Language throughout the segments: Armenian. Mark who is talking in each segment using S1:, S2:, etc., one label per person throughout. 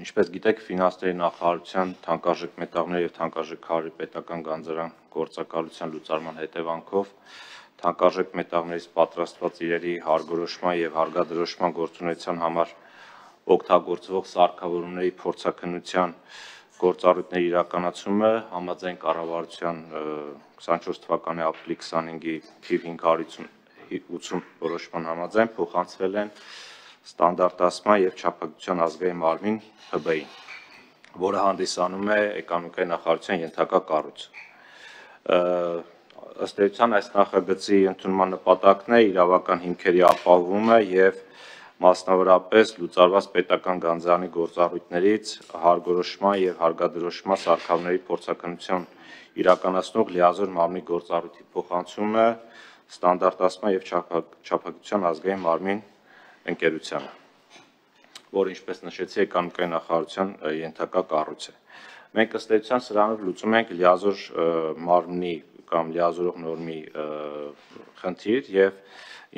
S1: Ինչպես գիտեք, ֆինանսների նախարարության թանկարժեք մետաղների և թանկարժեք քարերի պետական գանձարան գործակալության լուծարման հետևանքով թանկարժեք մետաղներից պատրաստված իրերի հարգորոշման և հարգադրոշման գործունեության համար օգտագործվող սարքավորումների փորձաքննության գործառույթների իրականացումը համաձայն կառավարության 24 թվականի ապրիլի 25-ի թիվ 580 որոշման համաձայն փոխանցվել են ստանդարտացման և չափակցության ազգային մարմին ՀԲ-ին, որը հանդիսանում է էկոնոմիկայի նախարարության ենթակա կառույց։ Ըստ էության այս նախագծի ընդունման նպատակն է իրավական հիմքերի ապահովումը և մասնավորապես լուծարված պետական գանձարանի գործառույթներից հարգորոշման և հարգադրոշման սարքավորումների փորձաքննություն իրականացնող լիազոր մարմնի գործառույթի փոխանցումը ստանդարտացման և չափակցության ազգային մարմին ընկերությանը, որը, ինչպես նշեցի, էկոնոմիկայի նախարարության ենթակա կառույց է։ Մենք ըստ էության սրանով լուծում ենք լիազոր մարմնի կամ լիազորող նորմի խնդիր և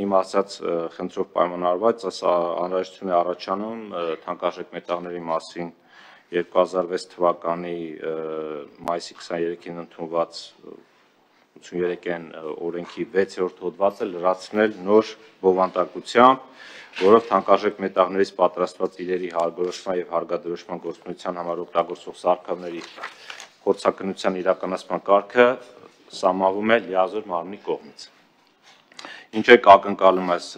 S1: իմ ասած խնդրով պայմանավորված անհրաժեշտություն է առաջանում թանկարժեք մետաղների մասին 2006 թվականի մայիսի 23-ին ընդունված 83-ին օրենքի 6-րդ հոդվածը լրացնել նոր բովանդակությամբ, որով թանկարժեք մետաղներից պատրաստված իրերի հարգորոշման և հարգադրոշման գործունեության համար օգտագործվող սարքավորումների փորձաքննության իրականացման կարգը սահմանվում է լիազոր մարմնի կողմից։ Ինչ է ակնկալում այս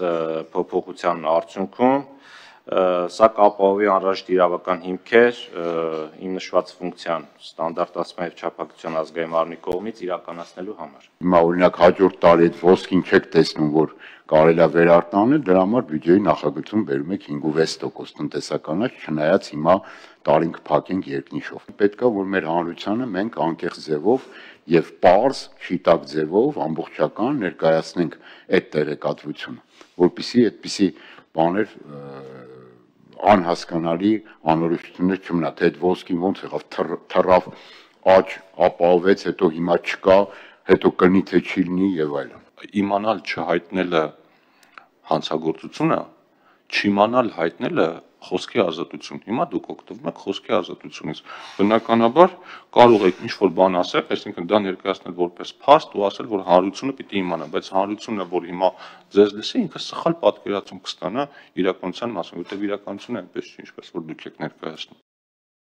S1: փոփոխության արդյունքում, սա կապահովի անհրաժեշտ իրավական հիմքեր իմ նշված ֆունկցիան ստանդարտացման և չափակցության ազգային մարմնի կողմից իրականացնելու համար։
S2: Հիմա օրինակ հաջորդ տարի այդ ոսկին չեք տեսնում, որ կարելի է վերարտանել, դրա համար բյուջեի նախագծում բերում եք 5.6% տնտեսականաց, չնայած հիմա տարին կփակենք երկնիշով։ Պետք է, որ մեր հանրությանը մենք անկեղծ ձևով եւ պարզ, շիտակ ձևով ամբողջական ներկայացնենք այդ տեղեկատվությունը, որպեսզի այդպիսի բաներ անհասկանալի անորոշություններ չմնա, թե այդ ոսկին ոնց եղավ, թռավ, աճ ապահովեց, հետո հիմա չկա, հետո կնի թե չի լինի եւ այլն։
S3: Իմանալ չհայտնելը հանցագործությունը, չիմանալ հայտնելը խոսքի ազատություն։ Հիմա դուք օգտվում եք խոսքի ազատությունից։ Բնականաբար կարող եք ինչ-որ բան ասել, այսինքն դա ներկայացնել որպես փաստ ու ասել, որ հանրությունը պիտի իմանա, բայց հանրությունը, որ հիմա ձեզ լսի, ինքը սխալ պատկերացում կստանա իրականության մասին, որտեղ իրականությունը այնպես չի, ինչպես որ դուք եք ներկայացնում։